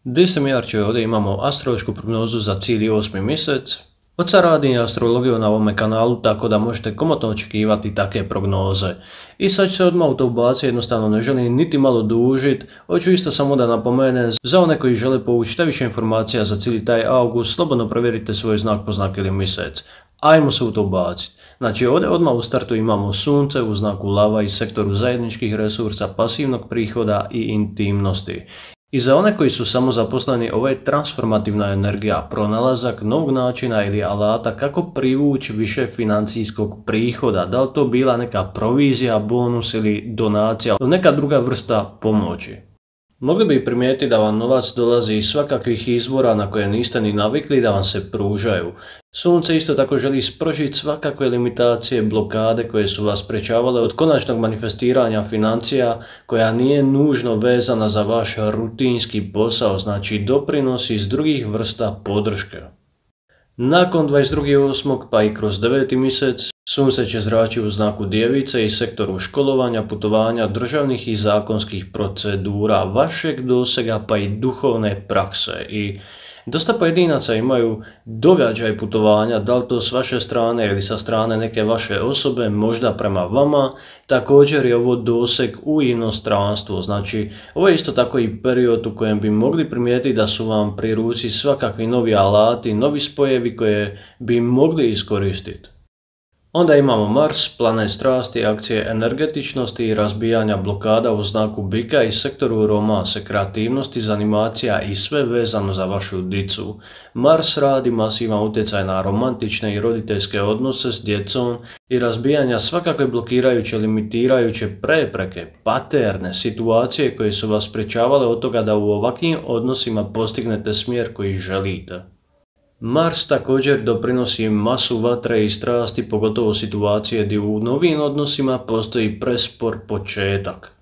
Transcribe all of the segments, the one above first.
Gdje sam Jarče, ovdje imamo astrološku prognozu za cijeli 8. mjesec. Od sad radim astrologiju na ovome kanalu, tako da možete komotno očekivati takve prognoze. I sad ću se odmah u to ubaciti, jednostavno ne želim niti malo dužiti. Hoću isto samo da napomenem, za one koji žele povući što više informacija za cijeli taj august, slobodno provjerite svoj znak po znak ili mjesec. Ajmo se u to ubaciti. Znači ovdje odmah u startu imamo sunce u znaku lava i sektoru zajedničkih resursa, pasivnog prihoda i intimnosti. I za one koji su samozaposleni, ovo je transformativna energija, pronalazak novog načina ili alata kako privući više financijskog prihoda, da li to bila neka provizija, bonus ili donacija, ili neka druga vrsta pomoći. Mogli bi primijetiti da vam novac dolazi iz svakakvih izvora na koje niste ni navikli da vam se pružaju. Sunce isto tako želi spržiti svakakve limitacije, blokade koje su vas sprečavale od konačnog manifestiranja financija koja nije nužno vezana za vaš rutinski posao, znači doprinosi iz drugih vrsta podrške. Nakon 22.8. pa i kroz 9. mjesec, sunce će zračiti u znaku djevice i sektoru školovanja, putovanja, državnih i zakonskih procedura, vašeg dosega pa i duhovne prakse. I dosta pojedinaca imaju događaj putovanja, da li to s vaše strane ili sa strane neke vaše osobe, možda prema vama. Također je ovo doseg u inostranstvu, znači ovo je isto tako i period u kojem bi mogli primijetiti da su vam pri ruci svakakvi novi alati, novi spojevi koje bi mogli iskoristiti. Onda imamo Mars, planet strasti, akcije energetičnosti i razbijanja blokada u znaku bika i sektoru romanse, kreativnosti, zanimacija i sve vezano za vašu dicu. Mars radi masivan utjecaj na romantične i roditeljske odnose s djecom i razbijanja svakakve blokirajuće, limitirajuće prepreke, paterne, situacije koje su vas sprečavale od toga da u ovakvim odnosima postignete smjer koji želite. Mars također doprinosi masu vatre i strasti, pogotovo situacije gdje u novim odnosima postoji prespor početak.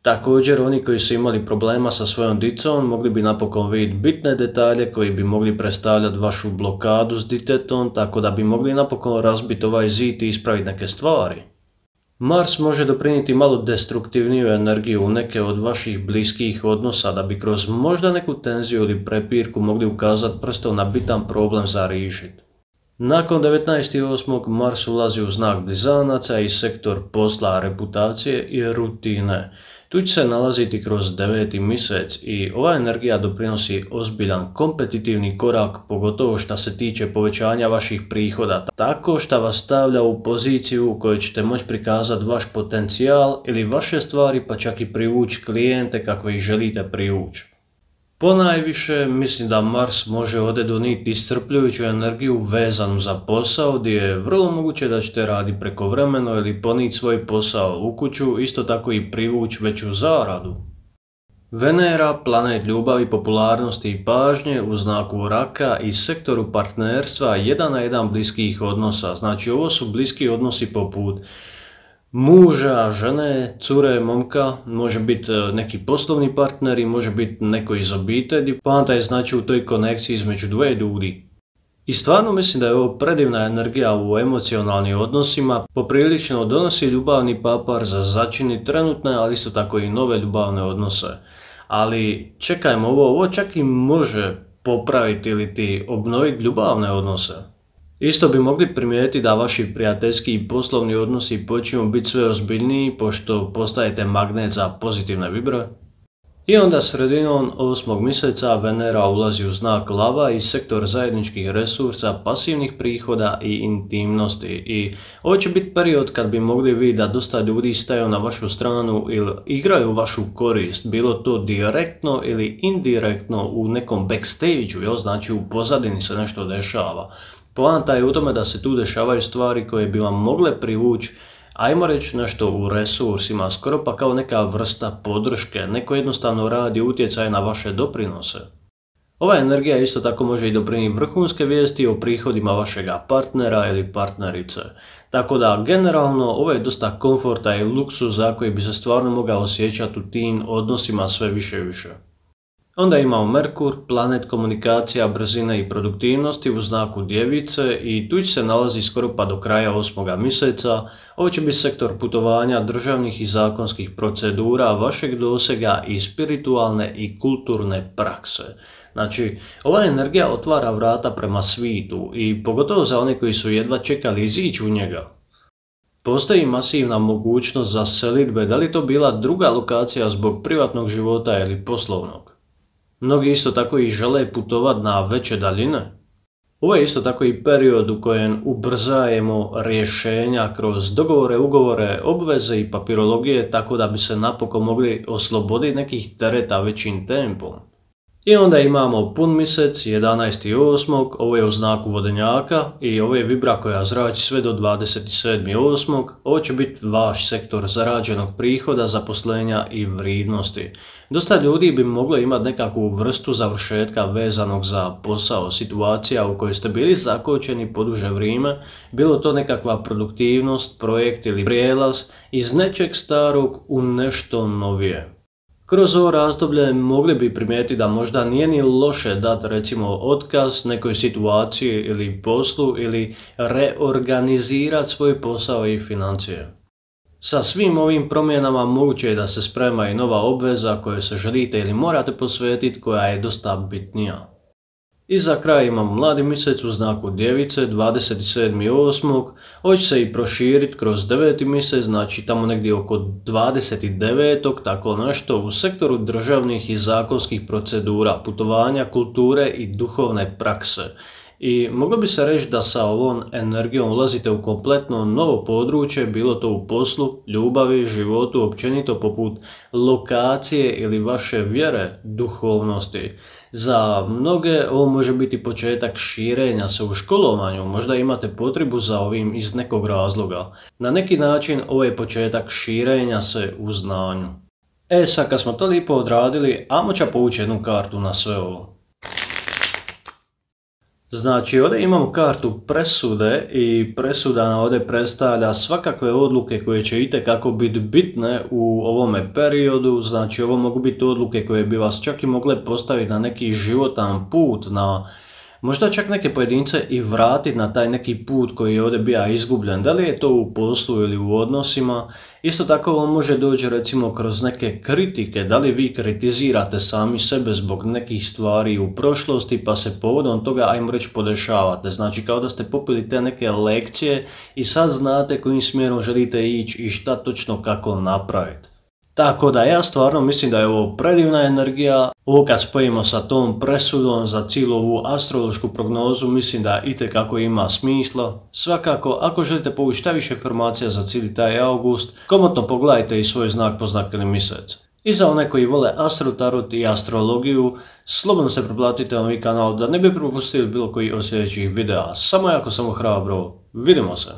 Također oni koji su imali problema sa svojom dicom mogli bi napokon vidjeti bitne detalje koji bi mogli predstavljati vašu blokadu s ditetom, tako da bi mogli napokon razbiti ovaj zid i ispraviti neke stvari. Mars može doprinijeti malo destruktivniju energiju u neke od vaših bliskih odnosa da bi kroz možda neku tenziju ili prepirku mogli ukazati prstom na bitan problem za riješiti. Nakon 19.8. Mars ulazi u znak blizanaca i sektor posla, reputacije i rutine. Tu će se nalaziti kroz 9. mjesec i ova energija doprinosi ozbiljan kompetitivni korak, pogotovo što se tiče povećanja vaših prihoda, tako što vas stavlja u poziciju u kojoj ćete moći prikazati vaš potencijal ili vaše stvari, pa čak i privući klijente kakve ih želite privući. Ponajviše mislim da Mars može ovdje donijeti iscrpljujuću energiju vezanu za posao, gdje je vrlo moguće da ćete raditi prekovremeno ili ponijeti svoj posao u kuću, isto tako i privući veću zaradu. Venera, planet ljubavi, popularnosti i pažnje u znaku raka i sektoru partnerstva 1 na 1 bliskih odnosa, znači ovo su bliski odnosi poput muža, žene, cure, momka, može biti neki poslovni partneri, može biti neko iz obitelji, poanta je znači u toj konekciji između dvoje ljudi. I stvarno mislim da je ovo predivna energija u emocionalnim odnosima, poprilično donosi ljubavni papar za začini trenutne, ali isto tako i nove ljubavne odnose. Ali čekajmo, ovo čak i može popraviti ili ti obnoviti ljubavne odnose. Isto bi mogli primijetiti da vaši prijateljski i poslovni odnosi počinju biti sve ozbiljniji pošto postajete magnet za pozitivne vibre. I onda sredinom 8. mjeseca Venera ulazi u znak lava i sektor zajedničkih resursa, pasivnih prihoda i intimnosti. I ovo će biti period kad bi mogli vidjeti da dosta ljudi staju na vašu stranu ili igraju vašu korist, bilo to direktno ili indirektno u nekom backstage-u, znači u pozadini se nešto dešava. Poanta je u tome da se tu dešavaju stvari koje bi vam mogle privući, ajmo reći nešto u resursima, skoro pa kao neka vrsta podrške, neko jednostavno radi utjecaj na vaše doprinose. Ova energija isto tako može i doprinijeti vrhunske vijesti o prihodima vašega partnera ili partnerice. Tako da generalno ovo je dosta komforta i luksuza koji bi se stvarno mogao osjećati u tim odnosima sve više i više. Onda imamo Merkur, planet komunikacija, brzine i produktivnosti u znaku Djevice i tu se nalazi skoro pa do kraja 8. mjeseca. Ovo će biti sektor putovanja, državnih i zakonskih procedura, vašeg dosega i spiritualne i kulturne prakse. Znači, ova energija otvara vrata prema svitu i pogotovo za one koji su jedva čekali izići u njega. Postoji masivna mogućnost za selidbe, da li to bila druga lokacija zbog privatnog života ili poslovnog. Mnogi isto tako i žele putovati na veće daljine. Ovo je isto tako i period u kojem ubrzajemo rješenja kroz dogovore, ugovore, obveze i papirologije tako da bi se napokon mogli osloboditi nekih tereta većim tempom. I onda imamo pun mjesec 11.8. Ovo je u znaku Vodenjaka i ovo je vibra koja zrači sve do 27.8. Ovo će biti vaš sektor zarađenog prihoda, zaposlenja i vrijednosti. Dosta ljudi bi moglo imati nekakvu vrstu završetka vezanog za posao, situacija u kojoj ste bili zakočeni poduže vrijeme, bilo to nekakva produktivnost, projekt ili prijelaz iz nečeg starog u nešto novije. Kroz ovo razdoblje mogli bi primijetiti da možda nije ni loše dati recimo otkaz nekoj situaciji ili poslu ili reorganizirati svoj posao i financije. Sa svim ovim promjenama moguće je da se sprema i nova obveza kojoj se želite ili morate posvetiti koja je dosta bitnija. I za kraj imamo mladi mjesec u znaku Djevice 27.8. Ovo će se i proširiti kroz 9. mjesec, znači tamo negdje oko 29. tako nešto u sektoru državnih i zakonskih procedura, putovanja, kulture i duhovne prakse. I moglo bi se reći da sa ovom energijom ulazite u kompletno novo područje, bilo to u poslu, ljubavi, životu, općenito poput lokacije ili vaše vjere, duhovnosti. Za mnoge ovo može biti početak širenja se u školovanju, možda imate potrebu za ovim iz nekog razloga. Na neki način ovo je početak širenja se u znanju. Sad kad smo to lijepo odradili, ajmo ću povući jednu kartu na sve ovo. Znači ovdje imamo kartu presude i presuda nam ovdje predstavlja svakakve odluke koje će itekako biti bitne u ovome periodu. Znači ovo mogu biti odluke koje bi vas čak i mogle postaviti na neki životan put, na možda čak neke pojedince i vratiti na taj neki put koji je ovdje bio izgubljen. Da li je to u poslu ili u odnosima. Isto tako on može doći recimo kroz neke kritike, da li vi kritizirate sami sebe zbog nekih stvari u prošlosti pa se povodom toga ajmo reći podešavate. Znači kao da ste popili te neke lekcije i sad znate kojim smjerom želite ići i šta točno kako napraviti. Tako da ja stvarno mislim da je ovo predivna energija. Ovo kad spojimo sa tom presudom za cijelu ovu astrološku prognozu mislim da itekako ima smisla. Svakako ako želite povući šta više informacija za cijeli taj august, komotno pogledajte i svoj znak poznakani mjesec. I za one koji vole astrotarot i astrologiju, slobodno se preplatite na ovaj kanal da ne bi propustili bilo koji od sljedećih videa. Samo jako hrabro, vidimo se!